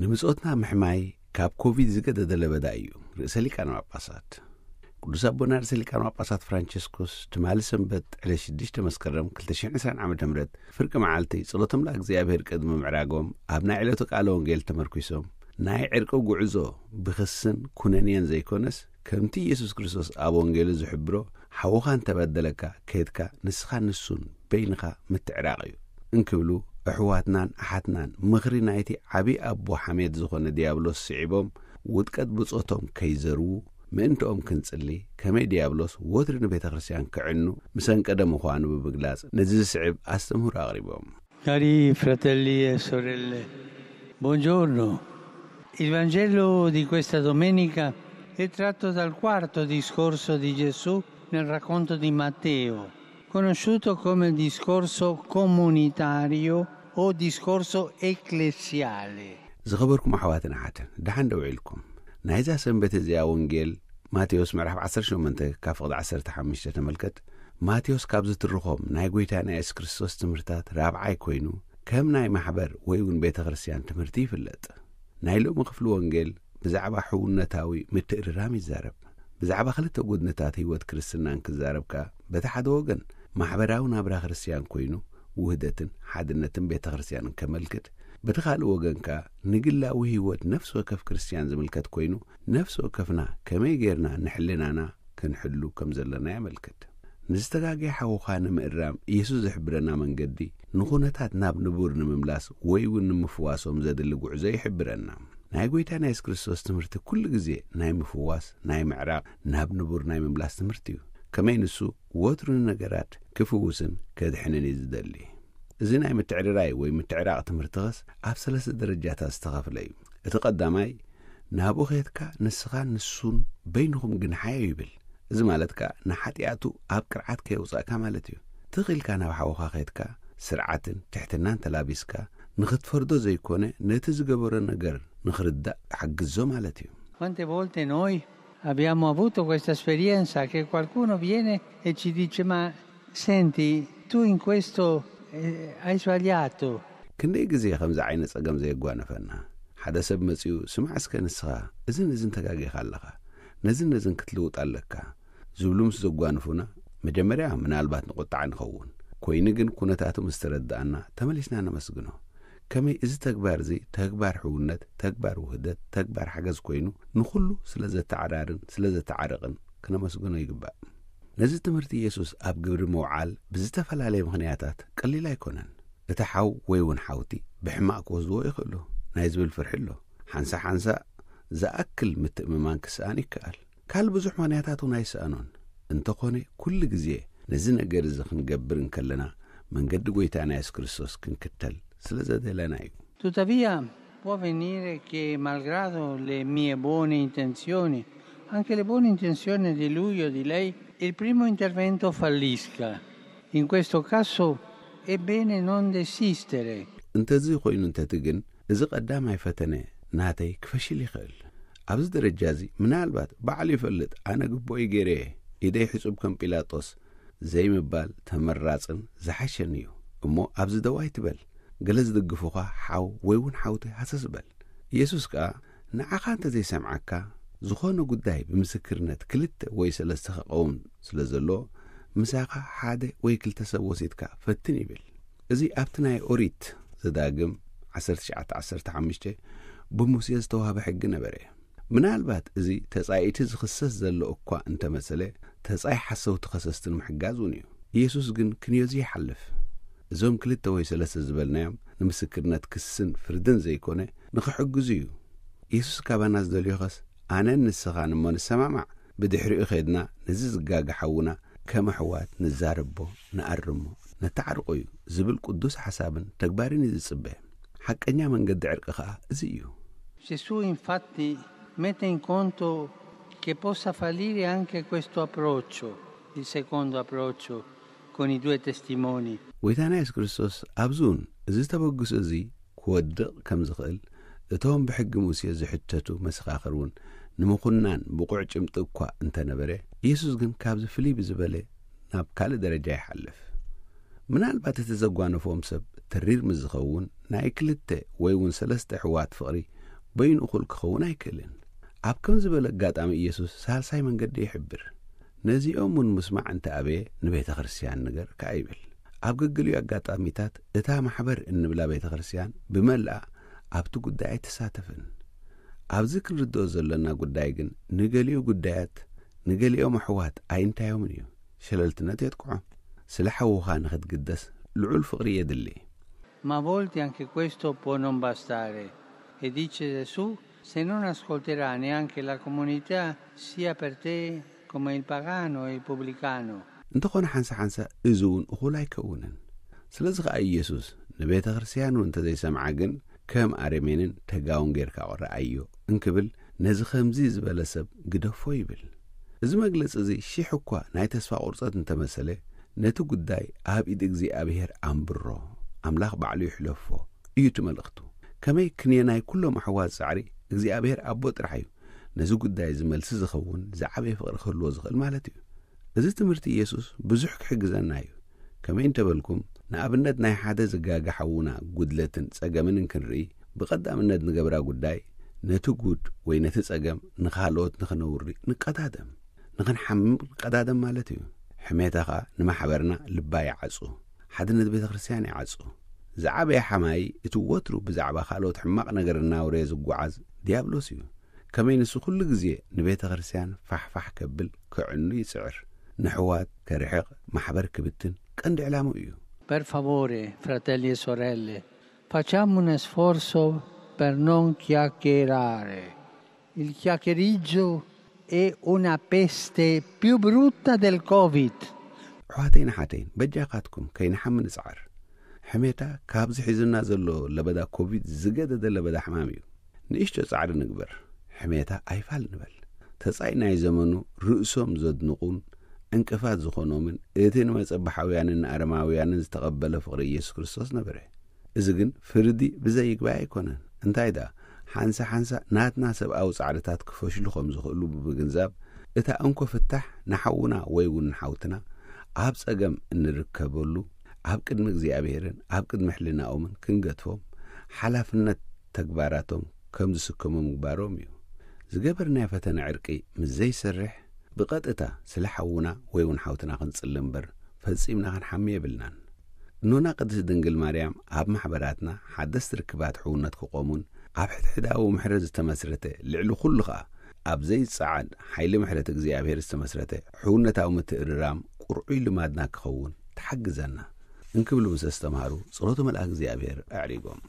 ንምጾትና ምሕማይ ካብ ኮቪድ ዝገደደ ለበዳ እዩ። ርእሰ ሊቃነ ጳጳሳት ቅዱስ ኣቦና ርእሰ ሊቃነ ጳጳሳት ፍራንቸስኮስ ትማሊ ሰንበት ዕለት ሽዱሽተ መስከረም ክልተ ሽሕን ዕስራን ዓመተ ምህረት ፍርቂ መዓልቲ ጸሎቶም ለእግዚኣብሔር ቅድሚ ምዕራጎም ኣብ ናይ ዕለቱ ቃለ ወንጌል ተመርኪሶም ናይ ዕርቂ ጉዕዞ ብኽስን ኩነንየን ዘይኮነስ ከምቲ ኢየሱስ ክርስቶስ ኣብ ወንጌሉ ዝሕብሮ ሓውኻ እንተበደለካ ከድካ ንስኻ ንሱን በይንኻ ምትዕራቕ እዩ እንክብሉ ኣሕዋትናን ኣሓትናን ምኽሪ ናይቲ ዓብዪ ኣቦ ሓሜት ዝኾነ ዲያብሎስ ስዒቦም ውድቀት ብጾቶም ከይዘርዉ ምእንትኦም ክንጽሊ ከመይ ዲያብሎስ ወትሪ ንቤተ ክርስቲያን ክዕኑ ምሰንቀደ ምዃኑ ብምግላጽ ነዚ ዝስዕብ ኣስተምህሮ ኣቕሪቦም። Cari fratelli e sorelle, buongiorno. Il Vangelo di questa domenica è tratto dal quarto discorso di Gesù nel racconto di Matteo, conosciuto come il discorso comunitario o discorso ecclesiale. ዝኸበርኩም ኣሕዋትን ኣሓትን ደሓን ደው ኢልኩም። ናይዛ ሰንበት እዚኣ ወንጌል ማቴዎስ ምዕራፍ ዓሰርተ ሸሞንተ ካብ ፍቕዲ ዓሰርተ ሓሙሽተ ተመልከት። ማቴዎስ ካብ ዝትርኾም ናይ ጎይታና የሱስ ክርስቶስ ትምህርታት ራብዓይ ኮይኑ ከም ናይ ማሕበር ወይ እውን ቤተ ክርስቲያን ትምህርቲ ይፍለጥ። ናይ ሎሚ ክፍሊ ወንጌል ብዛዕባ ሕውነታዊ ምትእርራም ይዛረብ። ብዛዕባ ክልተ ጎድንታት ህይወት ክርስትናን ክዛረብ ከኣ በቲ ሓደ ወገን ማሕበራዊ ናብራ ክርስቲያን ኮይኑ ውህደትን ሓድነትን ቤተ ክርስቲያንን ከመልክት፣ በቲ ካልእ ወገን ከኣ ንግላዊ ህይወት ነፍሲ ወከፍ ክርስቲያን ዝምልከት ኮይኑ ነፍሲ ወከፍና ከመይ ጌርና ንሕልናና ክንሕሉ ከም ዘለና የመልክት። ንዝተጋገየ ሓውኻ ንምእራም ኢየሱስ ዝሕብረና መንገዲ ንኹነታት ናብ ንቡር ንምምላስ ወይ እውን ንምፍዋሶም ዘድሊ ጉዕዞ ይሕብረና። ናይ ጎይታና የሱስ ክርስቶስ ትምህርቲ ኩሉ ግዜ ናይ ምፍዋስ ናይ ምዕራቕ ናብ ንቡር ናይ ምምላስ ትምህርቲ እዩ። ከመይ ንሱ ወትሩ ንነገራት ክፍውስን ከድሕንን እዩ ዝደሊ። እዚ ናይ ምትዕርራይ ወይ ምትዕራቕ ትምህርትኸስ ኣብ ሰለስተ ደረጃታት ዝተኸፍለ እዩ። እቲ ቀዳማይ ናብኡ ኸየትካ ንስኻ ንሱን በይንኹም ግንሓዮ ይብል። እዚ ማለት ከኣ ንሓጢኣቱ ኣብ ቅርዓት ከየውጻእካ ማለት እዩ። ትኽ ኢልካ ናብ ሓውኻ ኸየትካ ስርዓትን ትሕትናን ተላቢስካ ንኽትፈርዶ ዘይኮነ ነቲ ዝገበሮ ነገር ንኽርዳእ ሓግዞ ማለት እዩ። Quante volte noi abbiamo avuto questa esperienza che qualcuno viene e ci dice: "Ma senti, tu in questo eh, hai sbagliato." ክንደይ ግዜ ከምዚ ዓይነት ጸገም ዘየጓነፈና። ሓደ ሰብ መጺኡ ስማዕ እስከ ንስኻ እዝን እዝን ተጋጊኻ ኣለኻ፣ ነዝን ነዝን ክትልውጥ ኣለካ ዝብሉ ምስ ዘጓንፉና መጀመርያ ምናልባት ንቁጣዕ ንኸውን። ኮይኑ ግን ኩነታቱ ምስ ተረዳእና ተመሊስና ነመስግኖ። ከመይ እዚ ተግባር እዚ ተግባር ሕውነት፣ ተግባር ውህደት፣ ተግባር ሓገዝ ኮይኑ ንኹሉ ስለ ዘተዓራርን ስለ ዘተዓርቕን ክነመስግኖ ይግባእ። ነዚ ትምህርቲ ኢየሱስ ኣብ ግብሪ ምውዓል ብዝተፈላለየ ምኽንያታት ቀሊል ኣይኮነን። እቲ ሓው ወይ እውን ሓውቲ ብሕማቕ ክወስድዎ ይኽእሉ ናይ ዝብል ፍርሒ ኣሎ። ሓንሳ ሓንሳ ዝኣክል ምትእምማን ክስኣን ይከኣል። ካል ብዙሕ ምኽንያታት እውን ኣይሰኣኖን። እንተኾነ ኩሉ ግዜ ነዚ ነገር እዚ ክንገብር እንከለና መንገዲ ጎይታና የሱስ ክርስቶስ ክንክተል ስለ ዘደለና እዩ። Tuttavia, può avvenire che, malgrado le mie buone intenzioni, anche le buone intenzioni di lui o di lei, il primo intervento fallisca. In questo caso è bene non desistere. እንተዚ ኮይኑ እንተቲ ግን እዚ ቀዳማይ ፈተነ ናተይ ክፈሽል ይኽእል። ኣብዚ ደረጃ እዚ ምናልባት ባዕሉ ይፈልጥ ኣነ ግቡእይ ገይረ እየ፣ ኢደይ ሕጹብ ከም ጲላጦስ ዘይምባል ተመራጽን ዝሓሸን እዩ። እሞ ኣብዚ ደው ኣይትበል። ገለ ዝድግፉኻ ሓው ወይ እውን ሓውቲ ሃሰስ በል። ኢየሱስ ከኣ ንዓኻ እንተ ዘይሰምዓካ፣ ዝኾነ ጉዳይ ብምስክርነት ክልተ ወይ ሰለስተ ክቐውም ስለ ዘለዎ፣ ምሳኻ ሓደ ወይ ክልተ ሰብ ወሲድካ ፈትን ይብል። እዚ ኣብቲ ናይ ኦሪት ዘዳግም ዓሰርተ ትሽዓተ ዓሰርተ ሓሙሽተ ብሙሴ ዝተዋህበ ሕጊ ነበረ። ምናልባት እዚ ተጻይእቲ ዝኽሰስ ዘሎ እኳ እንተመሰለ፣ ተጻይ ሓሰውቲ ከሰስቲ ንምሕጋዝ እውን እዩ። ኢየሱስ ግን ክንዮዚ ይሓልፍ። እዞም ክልተ ወይ ሰለስተ ዝበልናዮም ንምስክርነት ክስን ፍርድን ዘይኮነ ንኽሕግዙ እዩ። ኢየሱስ ካባና ዝደልዮኸስ ኣነን ንስኻን እሞ ንሰማማዕ፣ ብድሕሪኡ ኸድና ነዚ ዝጋገ ሓውና ከም ኣሕዋት ንዛረቦ፣ ንኣርሞ፣ ነተዓርቆ እዩ ዝብል ቅዱስ ሓሳብን ተግባርን እዩ ዝጽበ። ሓቀኛ መንገዲ ዕርቂ ኸኣ እዚ እዩ። Gesù infatti mette in conto che possa fallire anche questo approccio, il secondo approccio con i due testimoni. ጎይታና የሱስ ክርስቶስ ኣብዚ እውን እዚ ተበግሶ እዚ ክወድቕ ከም ዝኽእል እቶም ብሕጊ ሙሴ ዝሕተቱ መሰኻኽር እውን ንምኹናን ብቑዕ ጭምጢ እኳ እንተነበረ፣ ኢየሱስ ግን ካብዚ ፍልይ ብዝበለ ናብ ካልእ ደረጃ ይሓልፍ። ምናልባት እቲ ዘጓነፎም ሰብ ተሪር ምስ ዝኸውን ናይ ክልተ ወይ እውን ሰለስተ ኣሕዋት ፍቕሪ በይኑ እኹል ክኸውን ኣይክእልን። ኣብ ከም ዝበለ ኣጋጣሚ ኢየሱስ ሳልሳይ መንገዲ ይሕብር። ነዚኦም እውን ምስማዕ እንተ ኣበየ ንቤተ ክርስቲያን ንገር ከኣ ይብል። ኣብ ገገሊኡ ኣጋጣሚታት እታ ማሕበር እንብላ ቤተ ክርስቲያን ብመልኣ ኣብቲ ጉዳይ ኣይትሳተፍን። ኣብዚ ክንርድኦ ዘለና ጉዳይ ግን ንገሊኡ ጉዳያት ንገሊኦም ኣሕዋት ኣይንታዮምን እዩ። ሸለልትነት የጥቅዖም። ስለ ሓውኻ ንኽትግደስ ልዑል ፍቕሪ የድሊ። Ma a volte anche questo può non bastare. E dice Gesù, se non ascolterà neanche la comunità, sia per te come il pagano e il pubblicano. እንተኾነ ሓንሳ ሓንሳ እዚ እውን እኹል ኣይከውንን። ስለዚ ኸኣ ኢየሱስ ንቤተ ክርስቲያኑ እንተዘይሰምዓ ግን ከም ኣረሜንን ተጋውን ጌርካ ቁረኣዮ እንክብል ነዚ ከምዚ ዝበለ ሰብ ግደፎ ይብል። እዚ መግለጺ እዚ ሽሕ እኳ ናይ ተስፋ ቁርጸት እንተመሰለ ነቲ ጉዳይ ኣብ ኢድ እግዚኣብሔር ኣንብሮ፣ ኣምላኽ ባዕሉ ይሕለፎ እዩ እቲ መልእኽቱ። ከመይ ክንየናይ ኩሎም ኣሕዋት ጻዕሪ እግዚኣብሔር ኣቦ ጥራሕ እዩ። ነዚ ጉዳይ እዚ መልሲ ዝኸውን ዝዓበየ ፍቕሪ ክህልዎ ዝኽእል ማለት እዩ። እዚ ትምህርቲ ኢየሱስ ብዙሕ ክሕግዘና እዩ። ከመይ እንተበልኩም ንኣብነት ናይ ሓደ ዝጋገ ሓውና ጉድለትን ጸገምን እንክንርኢ ብቐዳምነት ንገብራ ጉዳይ ነቲ ጉድ ወይ ነቲ ጸገም ንኻልኦት ንኽነውሪ ንቀዳደም። ንኽንሓምም ንቀዳደም ማለት እዩ። ሕሜታ ኸኣ ንማሕበርና ልባ ይዓጹ፣ ሓድነት ቤተ ክርስቲያን ይዓጹ። ዝዓበየ ሓማይ እቲ ወትሩ ብዛዕባ ካልኦት ሕማቕ ነገር እናውረየ ዝጓዓዝ ዲያብሎስ እዩ። ከመይ ንሱ ኩሉ ግዜ ንቤተ ክርስቲያን ፋሕፋሕ ከብል ክዕኑ ይጽዕር። ንሕዋት ከርሕቕ ማሕበር ክብትን ቀንዲ ዕላምኡ እዩ። Per favore, fratelli e sorelle, facciamo un sforzo per non chiacchierare. Il chiacchieriggio è una peste più brutta del Covid. ኣሕዋተይን ኣሓተይን በጃኻትኩም ከይንሓሚ ንጽዓር። ሕሜታ ካብዚ ሒዙና ዘሎ ለበዳ ኮቪድ ዝገደደ ለበዳ ሕማም እዩ። ንእሽቶ ጻዕሪ ንግበር። ሕሜታ ኣይፋል ንበል። ተጻይ ናይ ዘመኑ ርእሶም ዘድንቑን ዕንቅፋት ዝኾኖምን እቲ ንመጸባሓውያንን ንኣረማውያንን ዝተቐበለ ፍቕሪ ኢየሱስ ክርስቶስ ነበረ። እዚ ግን ፍርዲ ብዘይግባይ ኣይኮነን። እንታይ ደኣ ሓንሳ ሓንሳ ናትና ሰብኣዊ ጻዕርታት ክፈሽሉ ከም ዝኽእሉ ብምግንዛብ እታ እንኮ ፍታሕ ንሓውና ወይ እውን ንሓውትና ኣብ ጸገም እንርከበሉ ኣብ ቅድሚ እግዚኣብሔርን ኣብ ቅድሚ ሕልናኦምን ክንገድፎም ሓላፍነት ተግባራቶም ከም ዝስከሙ ምግባሮም እዩ። ዝገበርናዮ ፈተነ ዕርቂ ምስ ዘይሰርሕ ብቐጥታ ስለ ሓውና ወይ እውን ሓውትና ክንጽሊ እምበር ፈጺምና ክንሓሚ የብልናን። እኖና ቅድስት ድንግል ማርያም ኣብ ማሕበራትና ሓደስቲ ርክባት ሕውነት ክቖሙን ኣብ ሕድሕዳዊ ምሕረት ዝተመስረተ ልዕሊ ኩሉ ኸኣ ኣብ ዘይጸዓድ ሓይሊ ምሕረት እግዚኣብሔር ዝተመስረተ ሕውነታዊ ምትእርራም ቁርዑይ ልማድና ክኸውን ትሓግዘና እንክብሉ ምስ ኣስተምሃሩ ጸሎተ መልኣክ እግዚኣብሔር ኣዕሪጎም።